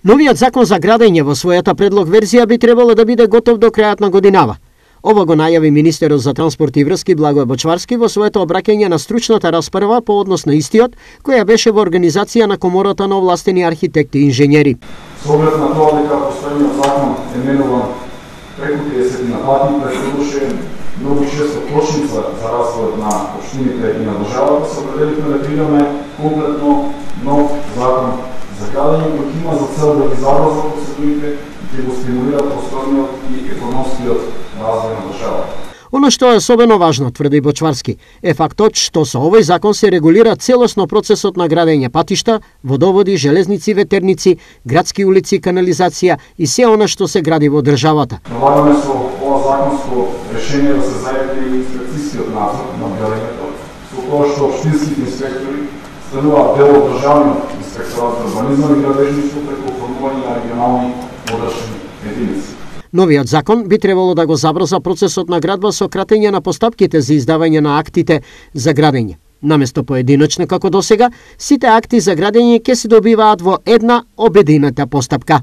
Новиот закон за градење во својата предлог верзија би требало да биде готов до крајот на годинава. Ова го најави министерот за транспорт и врски Благој Бочварски во своето обраќање на стручната расправа по однос на истиот, која беше во организација на Комората на овластени архитекти и инженери. Со оглед на тоа дека постојниот закон е менуван преку 30 пати, предположуваше многу често кошница за развој на општините и на државата, се определивме да креираме комплетно нов закон за градење, кој има за цел да ги забрза процедурите и да го стимулира постојниот и економскиот развој на државата. Оно што е особено важно, тврди Бочварски, е фактот што со овој закон се регулира целосно процесот на градење патишта, водоводи, железници, ветерници, градски улици, канализација и се она што се гради во државата. Налагаме со ова законско решение да се зајде и инспекцијскиот надзор на градењето, со тоа што општинските инспектори стануваат дел од државниот инспекторат за урбанизам и градежништво преку формување на регионални подрачни единици. Новиот закон би требало да го забрза процесот на градба со кратење на постапките за издавање на актите за градење. Наместо поединочно како досега, сите акти за градење ќе се добиваат во една обединета постапка.